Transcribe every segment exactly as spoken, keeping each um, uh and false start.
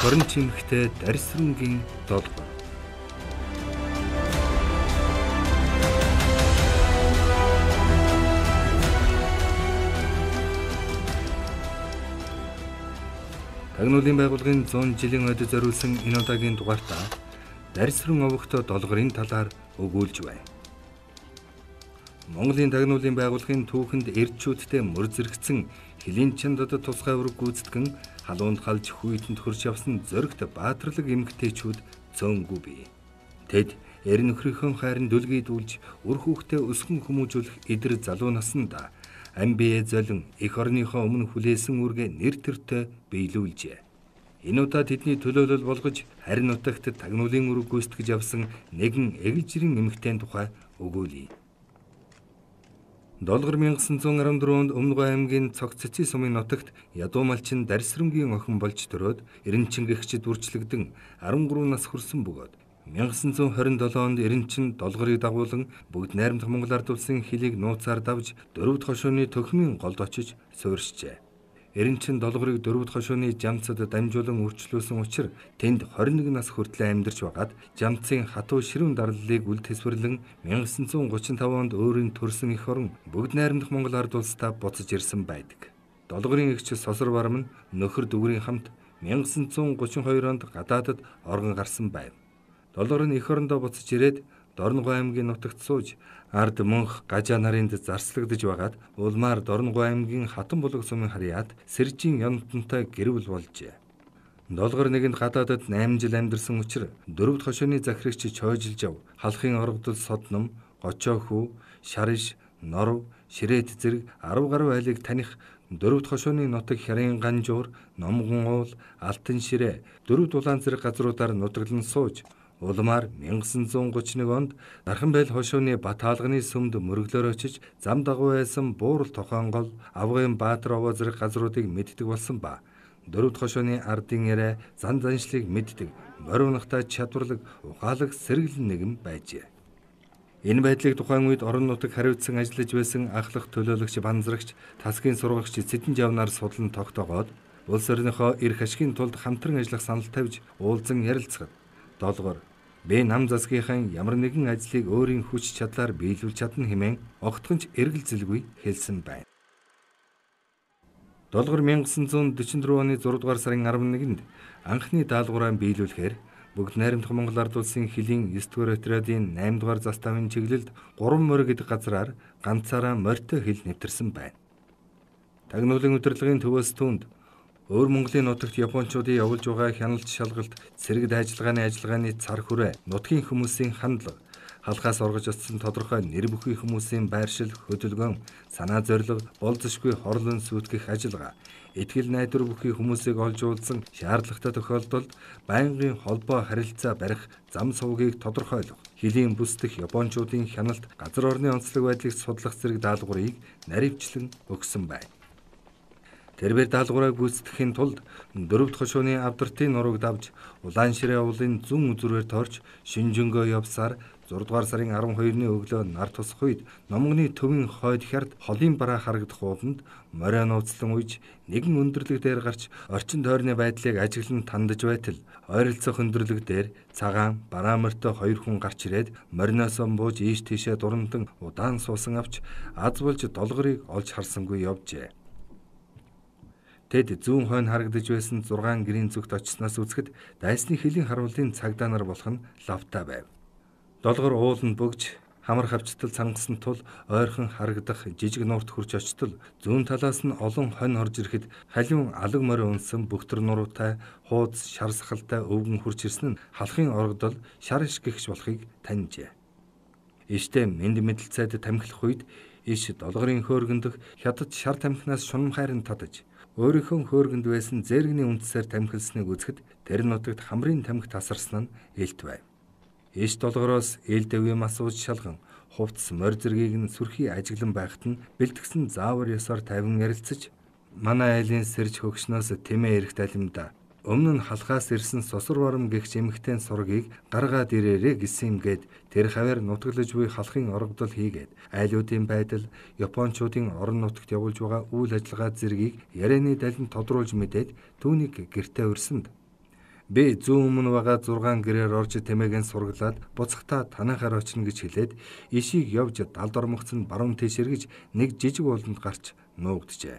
хорин чимхтэй дарсрынгийн долго. Тагнуулын байгууллагын зуун жилийн өдө зориулсан энэ удаагийн дугаартаа дарсрын овогтой долгорын талаар өгүүлж байна. Монголын тагнуулын байгууллагын түүхэнд эрдчүүдтэй мөр зэрэгцэн хилийн чандад тусгай ураг гүйцэтгэн халуунд халж хүйтэнд хөрж явсан зөрөгт баатарлаг эмэгтэйчүүд цөөнгүй бий. Тэд эр нөхрийнхөө хайрын дүлгийдүүлж үр хүүхдээ өсгөн хүмүүжүүлэх эдэр залуу насанда ам бие золин эх орныхоо өмнө хүлээсэн үргээ нэр төртөө биелүүлжээ. Энэ удаа тэдний төлөөлөл болгож харин нутагт тагнуулын үрэг гүйцэтгэж явсан нэгэн эгэлжирийн эмэгтэйн тухай өгүүлье. Долгор мянга санаа зуун арван дөрвөнд Өмнөгой аймгийн Цогццын сумын нутагт ядуу малчин дарсрынгийн охин болж төрөөд Эренчин гэгчид үрчлэгдэн арван гурван нас хүрсэн бөгөөд мянга санаа зуун хорин долоонд Эренчин долгорыг дагуулan бүгд найрамдах Монгол ард улсын хилийг нууцаар давж дөрвөд хошууны төхмийн голд очиж суурьшжээ. Эренчин долгорыг дөрвөд хошууны жамцад дамжуулан үрчлүүлсэн учраас тэнд хорин нэг нас хүртэл амьдарч байгаад жамцын хатуу ширүүн дарлалыг үл тэсвэрлэн мянга санаа зуун гучин тав онд өөрийн төрсөн эх орон бүгд найрамдах Монгол ард улстай буцаж ирсэн байдаг. Долгорын эгч Сосор Барам нь нөхөр Дүгрийн хамт мянга санаа зуун гучин хоёр онд гадаадад оргон гарсан байв. Долгор нь эх орондоо буцаж ирээд Дорногой аймгийн нутагт сууж ард мөнх гажаа нарынд зарслагдж байгаад улмаар Дорногой аймгийн Хатан булаг сумын харьяат Сэржийн Янтантай гэрвэл болжээ. Долгор нэгэнд гадаадад найман жил амьдарсан учраас дөрвөд хошооны захирагч чойжилж ав халахын оргодол содном, гочоо хүү, шариш, норов, ширээд зэрэг арав гаруй айлыг таних дөрвөд хошооны нутаг Хярын Ганжуур, Номгон уул, Алтан ширээ дөрвөд улаан зэрэг газруудаар нутаглан сууж улмаар мянга санаа зуун гучин нэг онд Дарханбайл хошууны Бат хаалганы сүмд мөрөглөөр очиж зам дагуу байсан Буурал Тохонгол, Авгын Баатар овоо зэрэг газруудыг мэддэг болсон ба дөрвөд хошууны ардын яриа зан заншлыг мэддэг мориунахтай чадварлаг ухаалаг сэргэлэн нэгэн байжээ. Энэ байдлыг тухайн үед орон нутаг хариуцсан ажиллаж байсан ахлах төлөөлөгч Банзрагч Тасгийн сургагч Цэдэн Жавнаар судлан тогтоогоод улс орныхоо эрх ашигын тулд хамтран ажиллах санал тавьж уулзан ярилцахад Долгор би нам засгийнхаа ямар нэгэн ажлыг өөрийн хүч чадлаар биелүүлж чадна хэмээн огтхонч эргэлзэлгүй хэлсэн байна. Долгор мянга санаа зуун дөрвөн оны зургаадугаар сарын арван нэгэнд анхны даалгавраа биелүүлэхээр бүгд найрамдах Монгол ард улсын хилийн девять дугаар отрядын найман дугаар заставын чиглэлд гурван морь гэдэг газраар ганцаараа морьтой хил нэвтэрсэн байна. Тагнуулын удирдлагын төвөөс түүнд өөр Монголын нутагт Япончуудын явуулж байгаа хяналт шалгалт, цэрэг дайжлагын ажиллагааны цар хүрээ, нутгийн хүмүүсийн хандлага, халахаас оргож очсон тодорхой нэр бүхий хүмүүсийн байршил, хөдөлгөөн, санаа зорилго, болзошгүй хорлон сүйтгэх ажиллагаа, итгэл найдвар бүхий хүмүүсийг олж уулзсан шаардлагатай тохиолдолд байнгын холбоо харилцаа барих зам сувгийг тодорхойлох, хилийн бүс дэх Япончуудын хяналт, газар орны онцлог байдлыг судлах зэрэг даалгаврыг наривчлан өгсөн байна. Тэрбээр даалгавраа гүйцэтгэхийн тулд дөрвөд хошууны авдартын нурууг давж улаан ширээ уулын зүүн үзүүрээр торч шинжэнгөө явсаар зургаадугаар сарын арван хоёрны өглөө нар тусах үед Номгоны төвийн хойд хярд холын бараа харагдах ууланд морио нууцлан уйж нэгэн өндөрлөг дээр гарч орчин тойрны байдлыг ажиглан тандаж байтал ойролцоох өндөрлөг дээр цагаан бараа морьтой хоёр хүн гарч ирээд мориноосоо бууж ийш тийшээ дурантан удаан суусан авч аз болж долгорыг олж харсангүй явжээ. Тэд зүүн хойно харагдаж байсан зургаан гэрийн зүгт очсноос үзэхэд дайсны хилийн харуулын цагдаа нар болох нь лавтай байв. Долгор ууланд бөгж хамар хавчтал цангасан тул ойрхон харагдах жижиг нуурт хурж очтол зүүн талаас нь олон хонь орж ирэхэд халиун алаг морь унсан бөхтөр нуруутай хуудас шар сахалтай өвгөн хурж ирсэн нь халахын оргодол шар иш гихч болохыг таньжээ. Иштэй мэд мэдлцайд тамхилах үед иш долгорын хөөргөндөх хятад шар тамхинаас шунам хайрын татаж өөрийнхөө хөөргөнд байсан зээргний үндсээр тамхилсныг үзэхэд тэр нутагт хамрын тамхи тасарсан нь илт байв. Иш долгороос ил дэвийн масууж шалган хувцс морь зэргийг нь сүрхий ажиглан байхад нь бэлтгэсэн заавар ёсоор тавин ярилцаж манай айлын сэрж хөгшнөөс тэмээ эрэх талимда өмнө нь халахаас ирсэн Сосор Барам гэгч эмэгтэйн сургийг гаргаад ирээрээ гэсэн юмгээд тэр хавар нутаглаж буй халахын оргодол хийгээд айлуудын байдал Япончуудын орон нутагт явуулж байгаа үйл ажиллагаа зэргийг ярианы далин тодруулж мэдээд түүнийг гэртээ өрсөнд Би зүүн өмнө байгаа зургаан гэрээр орж тэмээгийн сургалаад буцахтаа танахаар очно гэж хэлээд ишийг явж далд ормогцсон баруун тийш эргэж нэг жижиг ууланд гарч нуугджээ.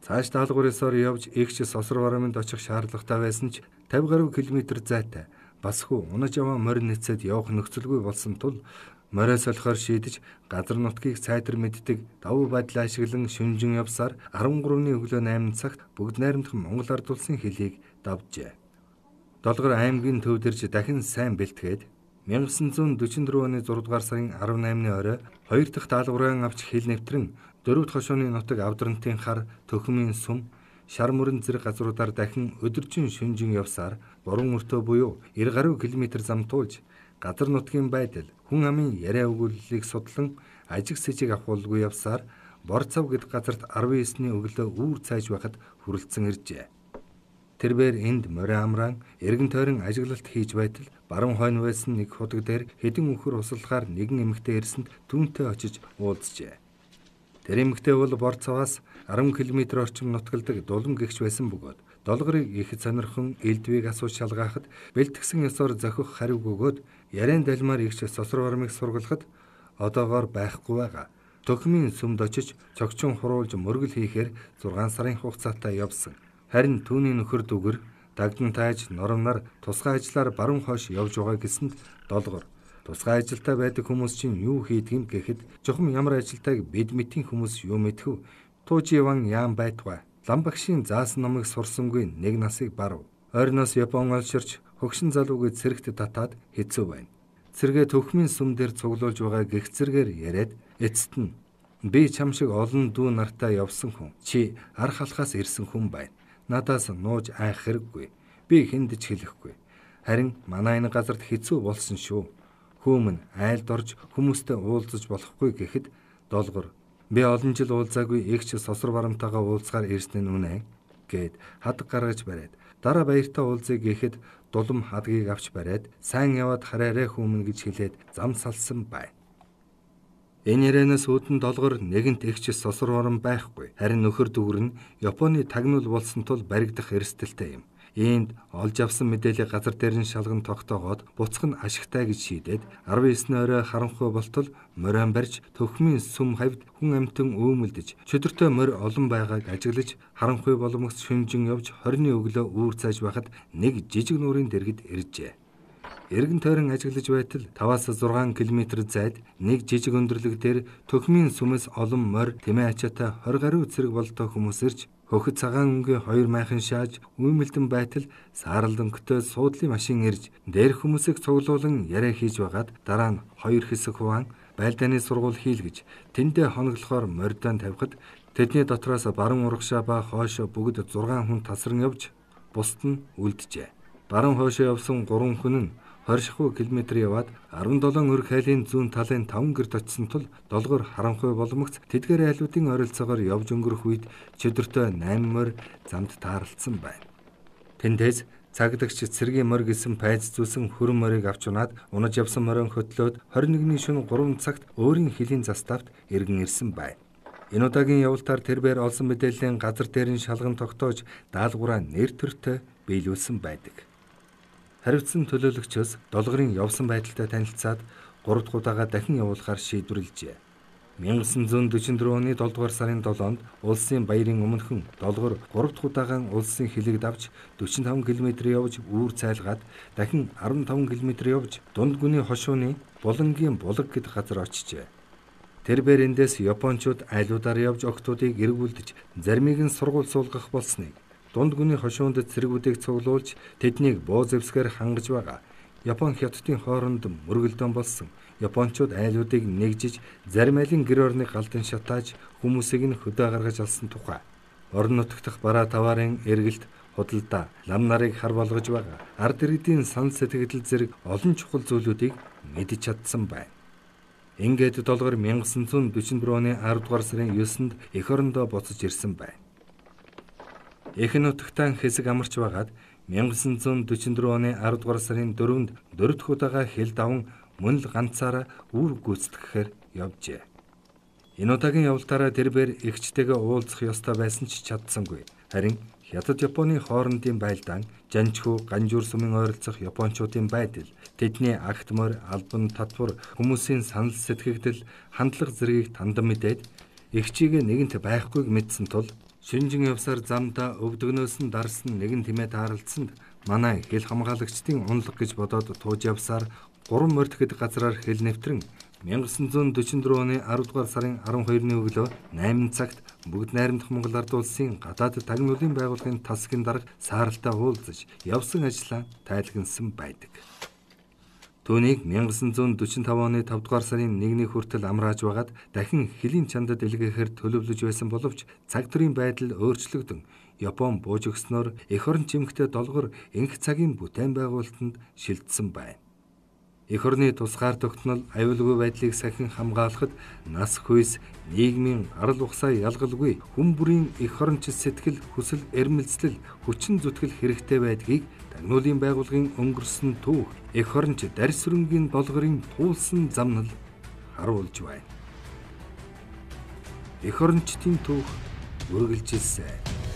Цааш даалгаврын сор явж эгч сосор барамд очих шаардлагатай байсан ч тавь гаруй километр зайтай бас хүү унаж аваа морин нэцэд явах нөхцөлгүй болсон тул морио солихоор шийдэж газар нутгийг сайтар мэддэг давуу байдал ашиглан шүнжин явсаар арван гуравны өглөө найман цагт бүгд найрамдах Монгол ард улсын хөлийг давжээ. Долгор аймгийн төвдөрж дахин сайн бэлтгээд 천구 дөрвөн оны зургаан дугаар сарын арваннаймны орой хоёр дахь даалгаврын авч хил нэвтрэн дөрөвд хошууны нутаг авдрантын хар төхмийн сум шар мөрөн зэрэг газруудаар дахин өдөржин шүнжин явсаар гурван өртөө буюу эр гаруй километр зам туулж газар нутгийн байдал хүн амын яриа өгүүллийг судлан ажиг сэжиг авахулгүй явсаар бор цав гэдэг газарт арван есний өглөө үүр цааж байхад хүрэлцэн иржээ. Тэрбээр энд морио амраан эргэн тойрон ажиглалт хийж байтал баруун хойно байсан нэг худаг дээр хэдэн өхөр услахаар нэгэн эмэгтэй ирсэнд түүнтэй очиж уулзжээ. Тэр эмэгтэй бол бор цаваас арван километр орчим нутгалдаг дулам гэгч байсан бөгөөд долгорыг их сонирхон элдвийг асууж шалгаахад бэлтгэсэн ёсоор зохих хариуг өгөөд яриан далмаар игч сосор бармыг сургалахад одоогоор байхгүй байгаа. Төхмийн сүмд очиж цогцон хуруулж мөргөл хийхээр зургаан сарын хугацаатай явсан. Харин түүний нөхөр дүгэр дагдан тааж норомнаар тусгай ажиллаар баруун хойш явж байгаа гэсэнд долгор тусгай ажилдаа байдаг хүмүүс чинь юу хийдгийм гэхэд жохом ямар ажилтайг бид мэтийн хүмүүс юу мэдхүү тууживан яам байтугай ламбагшийн заасан номыг сурсангүй нэг насыг барав. Ойрноос Япон олширч хөгшин залууг цэрэгт татаад хэцүү байна. Цэргээ төхмийн сүм дээр цуглуулж байгаа гих зэргээр яриад эцэст нь би чам шиг олон дүү нартай явсан хүн чи ар халахаас ирсэн хүн байна. Надаас нууж айх хэрэггүй. Би хэнд ч хэлэхгүй. Харин манай энэ газарт хэцүү болсон шүү. Хүмүн айлд орж хүмүүстэй уулзаж болохгүй гэхэд долгор би олон жил уулзаагүй эгч сосор барамтайгаа уулзгаар ирсэн нь үнэ гэд хад гаргаж бариад дараа баяртай уулзъя гэхэд дулам хадгийг авч бариад сайн яваад хараарэ хүмүн гэж хэлээд зам салсан байна. Энэ ярианаас үүдэн долгор нэгэнт эгч сосор барам байхгүй. Харин нөхөр дүүр нь Японы тагнуул болсон тул баригдах эрсдэлтэй юм. Иймд олж авсан мэдээлэл газар дээр нь шалган тогтоогоод буцах нь ашигтай гэж шийдээд арван есний орой харанхуй болтол морион барьж төхмийн сүм хавьд хүн амтан өөмөлдөж чөдөртөө морь олон байгааг ажиглаж харанхуй боломгоц шүнжин явж хорины өглөө үүр цааж байхад нэг жижиг нуурын дэргэд иржээ. Эргэн тойрон ажиглаж байтал таваас зургаан километр зайд нэг жижиг өндөрлөг дээр төхмийн сүмэс олон морь тэмээ ачаатай хорь гаруй цэрэг болтой хүмүүс ирж хөхөд цагаан өнгийн хоёр майхан шааж үймэлдэн байтал сааралдангөтэй суудлын машин ирж дээр хүмүүсийг цуглуулan яриа хийж байгаад дараа нь хоёр хэсэг хуваан байлдааны сургууль хийлгэж тэндээ хоноглохоор морьдон тавихад тэдний дотроос баруун урагшаа ба хойшоо бүгд зургаан хүн тасран явж бусд нь үлджээ. Баруун хойшоо явсан гурван хүн нь двадцать шесть км яваад арван долоон өрх хайлын зүүн талын таван гэрд очисон тул долгор харанхуй боломгц тэдгээр айлуудын ойролцоогоор явж өнгөрөх үед чөдөртөө найман морь замд таарлцсан байна. Тэндээс цагдагч цэргийн морь гэсэн пайз зүүсэн хөрөн морийг авч унаад унаж явсан морион хөтлөөд двадцать нэгний шөнө гурван цагт өөрийн хилийн заставт эргэн ирсэн байна. Энэ удаагийн явалтаар тэрбээр олсон мэдээллийн газар дээр нь шалган тогтоож даалгавраа нэр төртөө биелүүлсэн байдаг. Харивдсан төлөөлөгчөөс долгорын явсан байдалтай танилцаад гурав дахь удаага дахин явуулахар шийдвэрлэжээ. 천구 дөрвөн оны долоо дугаар сарын долоонд улсын баярын өмнөхөн долгор гурав дахь удаагаан улсын хилэг давж дөрвөн таван км явж үүр цайлгаад дахин арван таван км явж дунд гүний хошууны Булангийн булаг гэдэг газар очижээ. Тэрбээр эндээс Япончууд айлуудаар явж октоодыг эргүүлдэж заримыг нь сургууль суулгах болсныг дунд гүний хошуунд цэргүүдийг цуглуулж тэднийг боо зэвсгээр хангаж байгаа. Япон хятадын хооронд мөргөлдөөн болсон. Япончууд айлуудыг нэгжиж зарим айлын гэр орныг галдан шатааж хүмүүсийг нь хөдөө гаргаж алсан тухай. Орон нутгах бараа таварын эргэлт худалдаа лам нарыг хар болгож байгаа. Ард иргэдийн сан сэтгэл зэрэг олон чухал зүйлүүдийг мэдж чадсан байна. Ингээд долгор 천구 дөрвөн оны арав дугаар сарын есөнд эх орондоо буцаж ирсэн байна. Эх нутагтаа хэсэг амарч байгаад 천구 дөрвөн оны арав дугаар сарын дөрөвд дөрөв дэх удаага хэл даван мөн л ганцаараа үр гүйцэтгэхээр явжээ. Энэ удаагийн явалтаараа тэрбээр эгчтэйгээ уулзах ёстой байсан ч чадсангүй. Харин Хятад Японы хоорондын байлдаан, жанчхүү, ганжуур сумын ойролцох японочдын байдал, тэдний агт морь, албан татвар, хүмүүсийн санал сэтгэгдэл, хандлага зэргийг тандан мэдээд их чигээ нэгэнт байхгүйг мэдсэн тул шинжин явсаар замдаа өвдөгнөөс нь дарсан нэгэн тэмээ тааралцсанд манай хэл хамгаалагчдын унлаг гэж бодоод тууж явсаар гурван морьтгэд газраар хэл нэвтрэн 천구백사십사 оны аравдугаар сарын арван хоёрны өглөө найман цагт бүгд найрамдах Монгол Ард улсын гадаад тагнуулын байгууллагын тасгийн дарга сааралтай уулзаж явсан ажлаа тайлгнасан байдаг. Түүнийг 천구백사십오 оны тавдугаар сарын нэгний хүртэл амрааж байгаад дахин хэлийн чандад илгээхээр төлөвлөж байсан боловч цаг төрийн байдал өөрчлөгдөн Япон бууж өгснөөр эх орон чимэгтэй долгор энх цагийн бүтээн байгуулалтанд шилжсэн байна. Эх орны тусгаар тогтнол аюулгүй байдлыг сахин хамгаалахад нас хүйс нийгмийн арал ухсаа ялгалгүй хүн бүрийн эх оронч сэтгэл хүсэл эрмэлзэл хүчин зүтгэл хэрэгтэй байдгийг тагнуулын байгууллагын өнгөрсөн түүх эх оронч дарс өрөнгийн долгорын туулсан замнал харуулж байна. Эх орончдын түүх үргэлжилсэн.